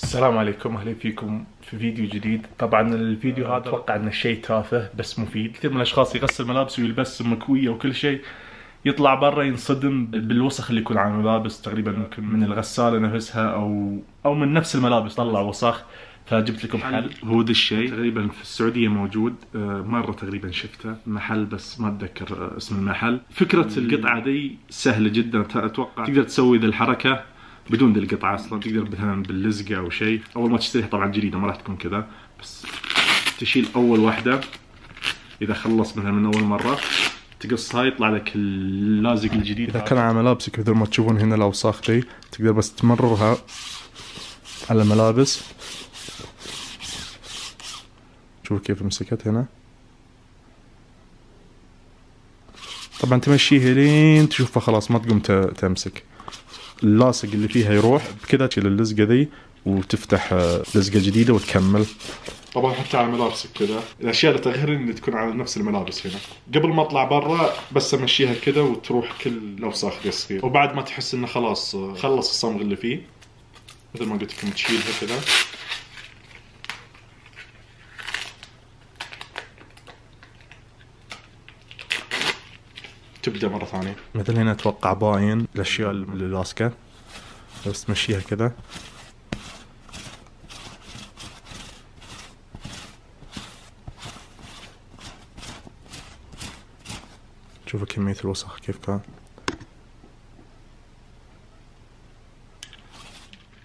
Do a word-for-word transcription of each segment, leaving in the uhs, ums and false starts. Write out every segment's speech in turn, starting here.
السلام عليكم، اهلا فيكم في فيديو جديد. طبعا الفيديو هذا اتوقع انه شيء تافه بس مفيد. كثير من الاشخاص يغسل ملابس ويلبس مكويه وكل شيء، يطلع برا ينصدم بالوسخ اللي يكون على الملابس، تقريبا ممكن من الغساله نفسها او او من نفس الملابس طلع وسخ. فجبت لكم حل، هو ذا الشيء تقريبا في السعوديه موجود، مره تقريبا شفته محل بس ما اتذكر اسم المحل. فكره القطعه دي سهله جدا، اتوقع تقدر تسوي ذا الحركه بدون ذي القطعه اصلا. تقدر مثلا باللزقه او شيء، اول ما تشتريها طبعا جديده ما راح تكون كذا، بس تشيل اول واحده اذا خلص مثلا من اول مره تقصها يطلع لك اللازق الجديد. اذا كان على ملابسك مثل ما تشوفون هنا الاوساخ دي، تقدر بس تمررها على الملابس. شوف كيف مسكت هنا. طبعا تمشيها لين تشوفها خلاص ما تقوم تمسك، اللاصق اللي فيها يروح بكذا. تشيل اللزقه ذي وتفتح لزقه جديده وتكمل. طبعا حتى على ملابسك كذا، الاشياء اللي تغير اللي تكون على نفس الملابس هنا. قبل ما اطلع برا بس امشيها كذا وتروح كل الاوساخ ذي الصغيره، وبعد ما تحس انه خلاص خلص الصمغ اللي فيه، مثل ما قلت لكم تشيلها كذا. تبدأ مرة ثانية. مثل هنا اتوقع باين الاشياء اللي لاصقة، بس تمشيها كذا. شوفوا كمية الوسخ كيف كان.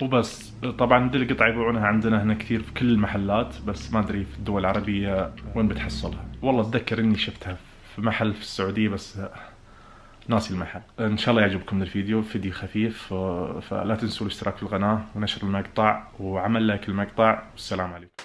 وبس طبعا دي القطعة يبيعونها عندنا هنا كثير في كل المحلات، بس ما ادري في الدول العربية وين بتحصلها. والله اتذكر اني شفتها في محل في السعودية بس ناسي المحل. ان شاء الله يعجبكم الفيديو، فيديو خفيف، فلا تنسوا الاشتراك في القناة ونشر المقطع وعمل لايك المقطع. والسلام عليكم.